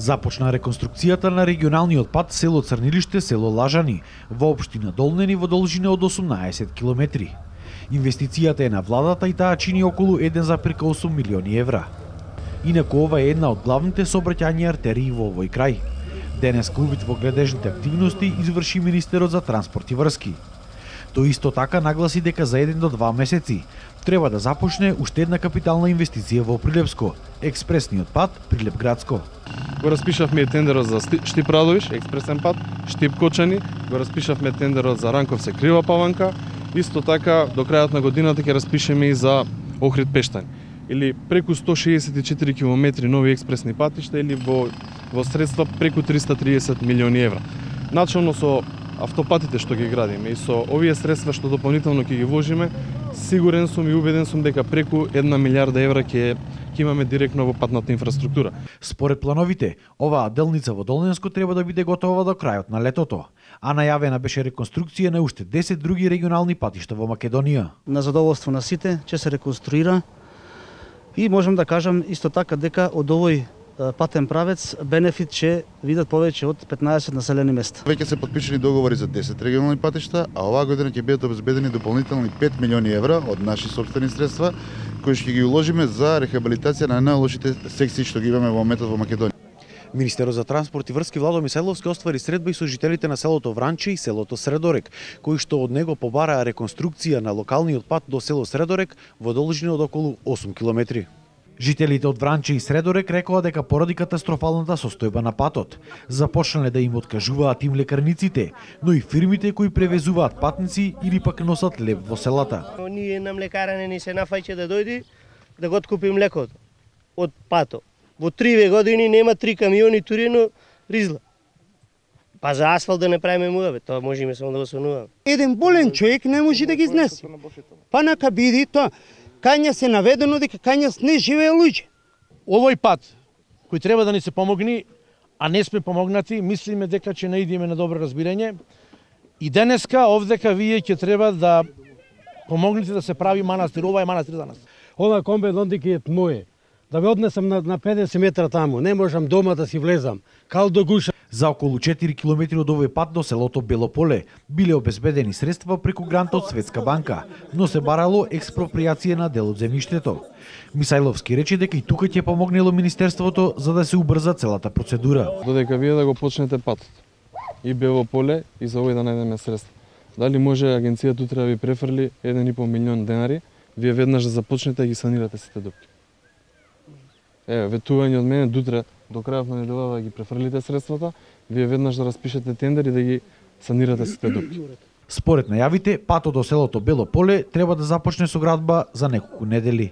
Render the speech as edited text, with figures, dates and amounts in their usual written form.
Започна реконструкцијата на регионалниот пат село Црнилиште, село Лажани, во општина Долнени во должина од 18 километри. Инвестицијата е на владата и таа чини околу 1,8 милиони евра. Инаку ова е една од главните сообраќајни артерии во овој крај. Денеска увид во гледежните активности изврши министерот за транспорт и врски. Тој исто така нагласи дека за 1 до 2 месеци треба да започне уште една капитална инвестиција во Прилепско, експресниот пат Прилеп-Градско. Го распишавме тендерот за Штип-Радовиш, експресен пат, Штип-Кочани, го распишавме тендерот за Ранковце-Крива Паванка, исто така до крајот на годината ќе распишеме и за Охрид-Пештани. Или преку 164 км нови експресни патишта или во средства преку 330 милиони евра. Начално со автопатите што ги градиме и со овие средства што дополнително ќе ги вложиме, сигурен сум и убеден сум дека преку 1 милиарда евра ќе имаме директно во патната инфраструктура. Според плановите, оваа делница во Долненско треба да биде готова до крајот на летото, а најавена беше реконструкција на уште 10 други регионални патишта во Македонија. На задоволство на сите ќе се реконструира и можам да кажам исто така дека од овој патен правец бенефит ќе видат повеќе од 15 населени места. Веќе се подпишани договори за 10 регионални патишта, а оваа година ќе бидат обезбедени дополнителни 5 милиони евра од наши сопствени средства, кои ќе ги уложиме за рехабилитација на најлошите секции што ги имаме во моментот во Македонија. Министерот за транспорт и врски Владо Мисајловски оствари средба и со жителите на селото Вранче и селото Средорек, кои што од него побараа реконструкција на локалниот пат до село Средорек во должина од околу 8 километри. Жителите од Вранче и Средорек рекоа дека поради катастрофалната состојба на патот, започнале да им откажуваат им лекарниците, но и фирмите кои превезуваат патници или пак носат леб во селата. Ние на млекаране ни се нафаќа да дојди да го откупи млекото од пато. Во 3 години нема 3 камиони турено ризла. Па за асфалт да не правиме муаве, тоа можеме само да го сонуваме. Еден болен човек не може да ги изнесе. Па нака биди тоа. Кања се наведено дека кањас не живее луѓе. Овој пат кој треба да ни се помогни, а не сме помогнати, мислиме дека ќе наидиме на добро разбирање. И денеска овдека вие ќе треба да помогнете да се прави манастир. Ова е манастир за нас. Ова комбе дондики е моје. Да ве однесам на 50 метра таму, не можам дома да си влезам. Кал до гуша. За околу 4 километри од овој пат до селото Белополе биле обезбедени средства преку грант од Светска банка, но се барало експроприација на дел од земјиштето. Мисајловски рече дека и тука ќе помогнело министерството за да се убрза целата процедура. Додека вие да го почнете патот и Белополе и за овој да најдеме средства. Дали може агенцијата утре да ви префрли 1,5 милион денари, вие веднаш да започнете да ги санирате сите дупки. Ветување од мене дутре до крајот на неделава да ги префрлите средствата, вие веднаш да распишете тендер и да ги санирате сите дупки. Според најавите, патот до селото Белополе треба да започне со градба за неколку недели.